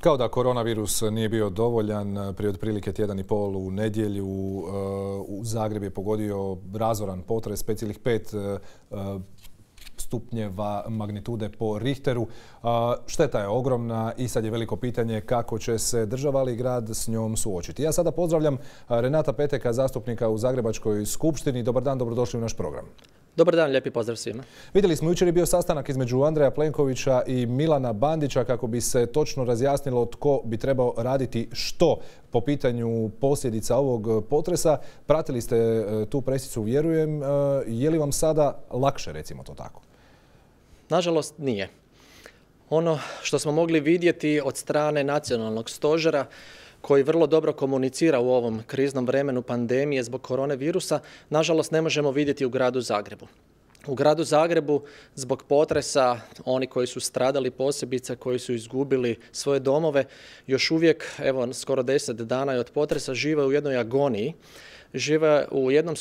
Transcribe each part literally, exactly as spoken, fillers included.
Kao da koronavirus nije bio dovoljan, prije otprilike tjedan i pol u nedjelju u Zagreb je pogodio razoran potres pet zarez pet stupnjeva magnitude po Richteru. Šteta je ogromna i sad je veliko pitanje kako će se država ali i grad s njom suočiti. Ja sada pozdravljam Renata Peteka, zastupnika u Zagrebačkoj skupštini. Dobar dan, dobrodošli u naš program. Dobar dan, lijepi pozdrav svima. Vidjeli smo, jučer je bio sastanak između Andreja Plenkovića i Milana Bandića kako bi se točno razjasnilo tko bi trebao raditi što po pitanju posljedica ovog potresa. Pratili ste tu presicu, vjerujem. Je li vam sada lakše, recimo to tako? Nažalost, nije. Ono što smo mogli vidjeti od strane nacionalnog stožera, koji vrlo dobro komunicira u ovom kriznom vremenu pandemije zbog koronavirusa, nažalost ne možemo vidjeti u gradu Zagrebu. U gradu Zagrebu zbog potresa, oni koji su stradali posebice, koji su izgubili svoje domove, još uvijek, evo skoro deset dana od potresa, žive u jednoj agoniji, žive u jednom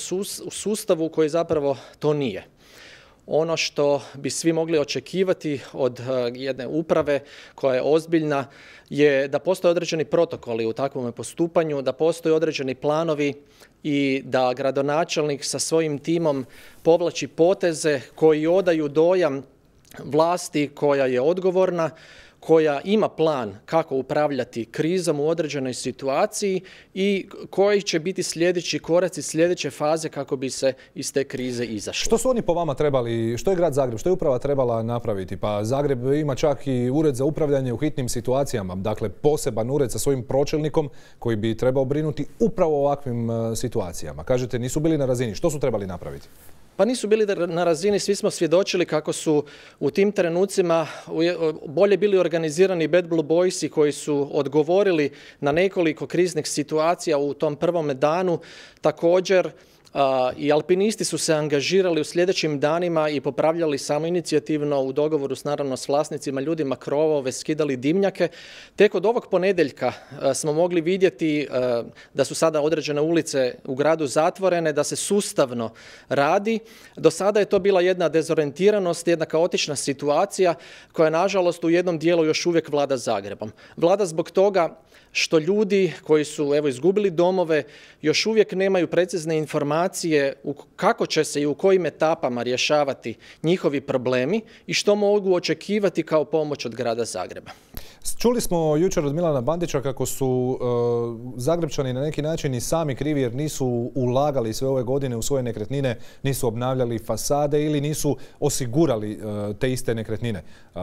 sustavu koji zapravo to nije. Ono što bi svi mogli očekivati od jedne uprave koja je ozbiljna je da postoje određeni protokoli u takvom postupanju, da postoje određeni planovi i da gradonačelnik sa svojim timom povlači poteze koji odaju dojam vlasti koja je odgovorna, koja ima plan kako upravljati krizom u određenoj situaciji i koji će biti sljedeći koraci, sljedeće faze kako bi se iz te krize izašlo. Što su oni po vama trebali, što je grad Zagreb, što je uprava trebala napraviti? Pa Zagreb ima čak i ured za upravljanje u hitnim situacijama, dakle poseban ured sa svojim pročelnikom koji bi trebao brinuti upravo o ovakvim situacijama. Kažete, nisu bili na razini. Što su trebali napraviti? Pa nisu bili na razini, svi smo svjedočili kako su u tim trenucima bolje bili organizirani Bad Blue Boysi koji su odgovorili na nekoliko kriznih situacija u tom prvome danu. Također i alpinisti su se angažirali u sljedećim danima i popravljali samoinicijativno u dogovoru s, naravno, s vlasnicima, ljudima krovove, skidali dimnjake. Tek od ovog ponedjeljka smo mogli vidjeti da su sada određene ulice u gradu zatvorene, da se sustavno radi. Do sada je to bila jedna dezorientiranost, jedna kaotična situacija koja nažalost u jednom dijelu još uvijek vlada Zagrebom. Vlada zbog toga što ljudi koji su evo izgubili domove još uvijek nemaju precizne informacije kako će se i u kojim etapama rješavati njihovi problemi i što mogu očekivati kao pomoć od grada Zagreba. Čuli smo jučer od Milana Bandića kako su uh, Zagrebčani na neki način i sami krivi jer nisu ulagali sve ove godine u svoje nekretnine, nisu obnavljali fasade ili nisu osigurali uh, te iste nekretnine. Uh,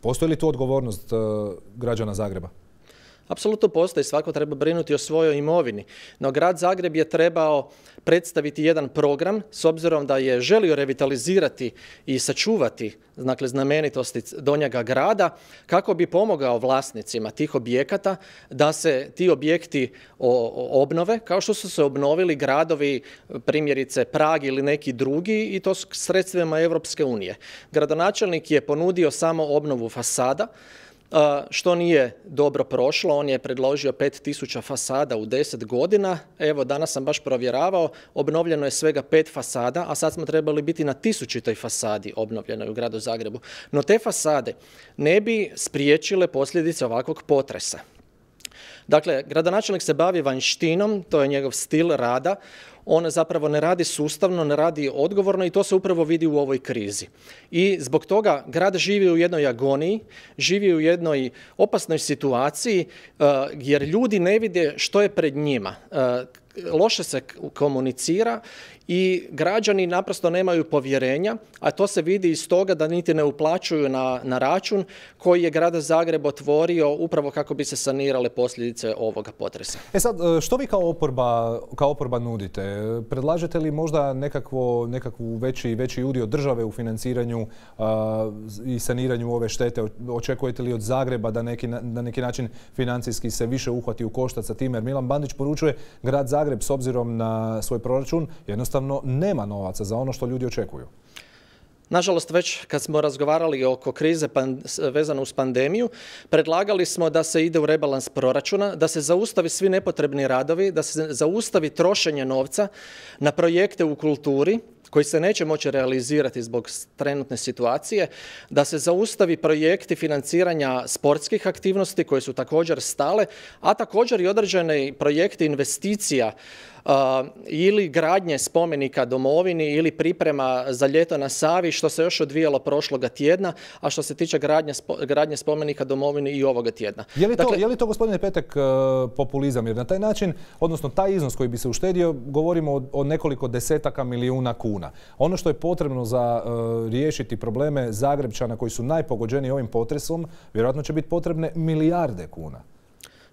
postoji li tu odgovornost uh, građana Zagreba? Apsolutno postoji, svako treba brinuti o svojoj imovini, no grad Zagreb je trebao predstaviti jedan program s obzirom da je želio revitalizirati i sačuvati, dakle, znamenitosti Donjega grada kako bi pomogao vlasnicima tih objekata da se ti objekti obnove kao što su se obnovili gradovi, primjerice Prag ili neki drugi, i to s sredstvima Europske unije. Gradonačelnik je ponudio samo obnovu fasada, što nije dobro prošlo. On je predložio pet tisuća fasada u deset godina. Evo, danas sam baš provjeravao, obnovljeno je svega pet fasada, a sad smo trebali biti na tisućitoj fasadi obnovljenoj u gradu Zagrebu. No te fasade ne bi spriječile posljedice ovakvog potresa. Dakle, gradonačelnik se bavi vanjštinom, to je njegov stil rada. On zapravo ne radi sustavno, ne radi odgovorno i to se upravo vidi u ovoj krizi. I zbog toga grad živi u jednoj agoniji, živi u jednoj opasnoj situaciji jer ljudi ne vide što je pred njima. Loše se komunicira i građani naprosto nemaju povjerenja, a to se vidi iz toga da niti ne uplaćuju na, na račun koji je grad Zagreb otvorio upravo kako bi se sanirale posljedice ovoga potresa. E sad, što vi kao oporba, kao oporba nudite? Predlažete li možda nekakvo, nekakvu veći, veći udio države u financiranju a, i saniranju ove štete? Očekujete li od Zagreba da neki, na neki način financijski se više uhvati u koštac sa time? Jer Milan Bandić poručuje grad Zagreb s obzirom na svoj proračun jednostavno nema novaca za ono što ljudi očekuju. Nažalost, već kad smo razgovarali oko krize vezano uz pandemiju, predlagali smo da se ide u rebalans proračuna, da se zaustavi svi nepotrebni radovi, da se zaustavi trošenje novca na projekte u kulturi koji se neće moći realizirati zbog trenutne situacije, da se zaustavi projekti financiranja sportskih aktivnosti koje su također stale, a također i određene projekti investicija Uh, ili gradnje spomenika domovini ili priprema za ljeto na Savi, što se još odvijalo prošloga tjedna, a što se tiče gradnje, spo, gradnje spomenika domovini i ovoga tjedna. Je li to, dakle, je li to gospodine Petek, uh, populizam? Jer na taj način, odnosno taj iznos koji bi se uštedio, govorimo o, o nekoliko desetaka milijuna kuna. Ono što je potrebno za uh, riješiti probleme Zagrepčana koji su najpogođeniji ovim potresom, vjerojatno će biti potrebne milijarde kuna.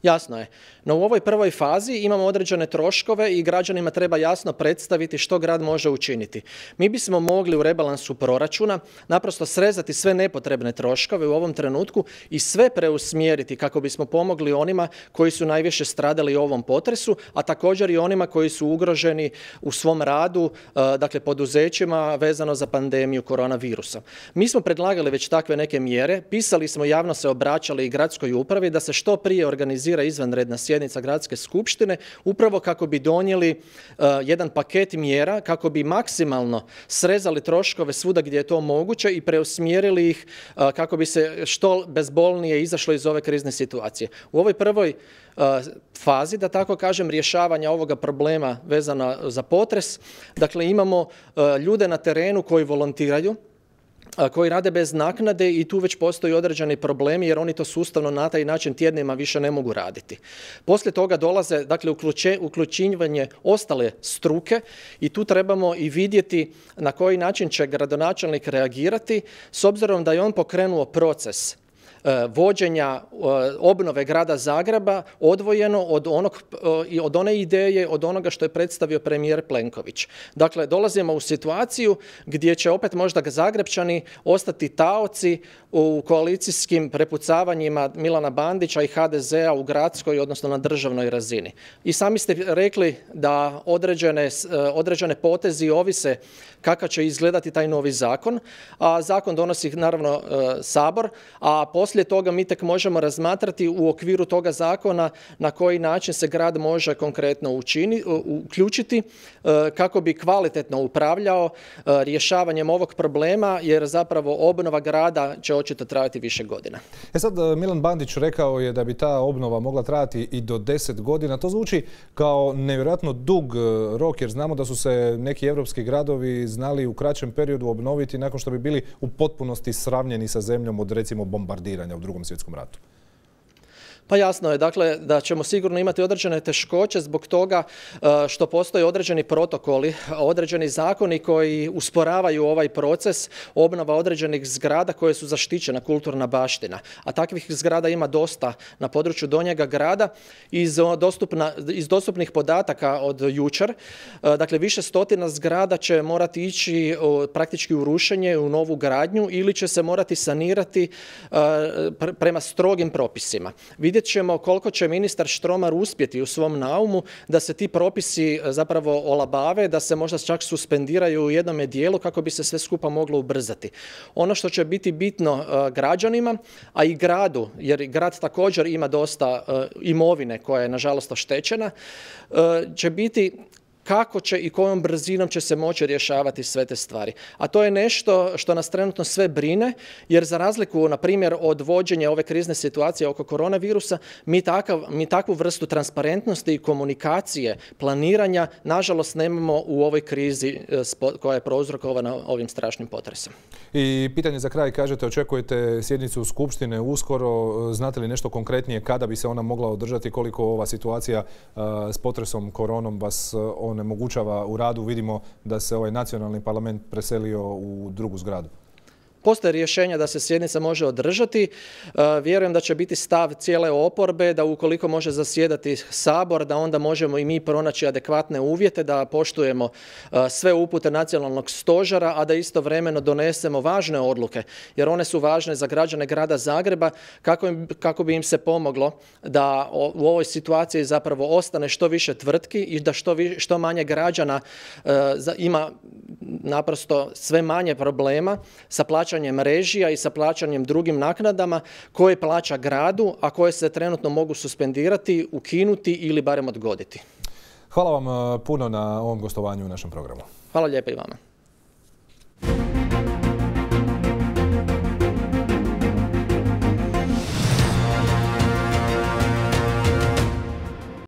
Jasno je. No u ovoj prvoj fazi imamo određene troškove i građanima treba jasno predstaviti što grad može učiniti. Mi bismo mogli u rebalansu proračuna naprosto srezati sve nepotrebne troškove u ovom trenutku i sve preusmjeriti kako bismo pomogli onima koji su najviše stradali u ovom potresu, a također i onima koji su ugroženi u svom radu, dakle poduzećima vezano za pandemiju koronavirusa. Mi smo predlagali već takve neke mjere, pisali smo, javno se obraćali i gradskoj upravi da se što prije organizira izvanredna sjednica gradske skupštine upravo kako bi donijeli uh, jedan paket mjera kako bi maksimalno srezali troškove svuda gdje je to moguće i preusmjerili ih uh, kako bi se što bezbolnije izašlo iz ove krizne situacije. U ovoj prvoj uh, fazi, da tako kažem, rješavanja ovoga problema vezano za potres, dakle imamo uh, ljude na terenu koji volontiraju, koji rade bez naknade i tu već postoji određeni problemi jer oni to sustavno na taj način tjednima više ne mogu raditi. Poslije toga dolaze, dakle, uključivanje ostale struke i tu trebamo i vidjeti na koji način će gradonačelnik reagirati s obzirom da je on pokrenuo proces vođenja obnove grada Zagreba odvojeno od, onog, od one ideje, od onoga što je predstavio premijer Plenković. Dakle, dolazimo u situaciju gdje će opet možda Zagrepčani ostati taoci u koalicijskim prepucavanjima Milana Bandića i ha de zea u gradskoj, odnosno na državnoj razini. I sami ste rekli da određene, određene potezi ovise kako će izgledati taj novi zakon, a zakon donosi naravno Sabor, a poslije toga mi tek možemo razmatrati u okviru toga zakona na koji način se grad može konkretno učini, uključiti kako bi kvalitetno upravljao rješavanjem ovog problema, jer zapravo obnova grada će očito trajati više godina. E sad, Milan Bandić rekao je da bi ta obnova mogla trajati i do deset godina. To zvuči kao nevjerojatno dug rok, jer znamo da su se neki europski gradovi znali u kraćem periodu obnoviti nakon što bi bili u potpunosti sravnjeni sa zemljom od, recimo, bombardiranja u Drugom svjetskom ratu. Pa jasno je, dakle, da ćemo sigurno imati određene teškoće zbog toga što postoje određeni protokoli, određeni zakoni koji usporavaju ovaj proces obnova određenih zgrada koje su zaštićena kulturna baština. A takvih zgrada ima dosta na području Donjega grada. Iz, dostupna, iz dostupnih podataka od jučer, dakle, više stotina zgrada će morati ići praktički u rušenje, u novu gradnju ili će se morati sanirati prema strogim propisima. Vidjet ćemo koliko će ministar Štromar uspjeti u svom naumu da se ti propisi zapravo olabave, da se možda čak suspendiraju u jednome dijelu kako bi se sve skupa moglo ubrzati. Ono što će biti bitno uh, građanima, a i gradu, jer grad također ima dosta uh, imovine koja je nažalost oštećena, uh, će biti kako će i kojom brzinom će se moći rješavati sve te stvari. A to je nešto što nas trenutno sve brine, jer za razliku, na primjer, od vođenja ove krizne situacije oko koronavirusa, mi, takav, mi takvu vrstu transparentnosti i komunikacije, planiranja, nažalost, nemamo u ovoj krizi koja je prouzrokovana ovim strašnim potresom. I pitanje za kraj, kažete, očekujete sjednicu Skupštine uskoro. Znate li nešto konkretnije kada bi se ona mogla održati, koliko ova situacija uh, s potresom koronom vas on onemogućava u radu? Vidimo da se ovaj nacionalni parlament preselio u drugu zgradu. Postoje rješenja da se sjednica može održati. Vjerujem da će biti stav cijele oporbe da ukoliko može zasjedati Sabor, da onda možemo i mi pronaći adekvatne uvjete, da poštujemo sve upute nacionalnog stožera, a da istovremeno donesemo važne odluke, jer one su važne za građane grada Zagreba, kako, im, kako bi im se pomoglo da u ovoj situaciji zapravo ostane što više tvrtki i da što, vi, što manje građana uh, ima naprosto sve manje problema sa plaćanjem režija i sa plaćanjem drugim naknadama koje plaća gradu, a koje se trenutno mogu suspendirati, ukinuti ili barem odgoditi. Hvala vam puno na ovom gostovanju u našem programu. Hvala lijepo i vama.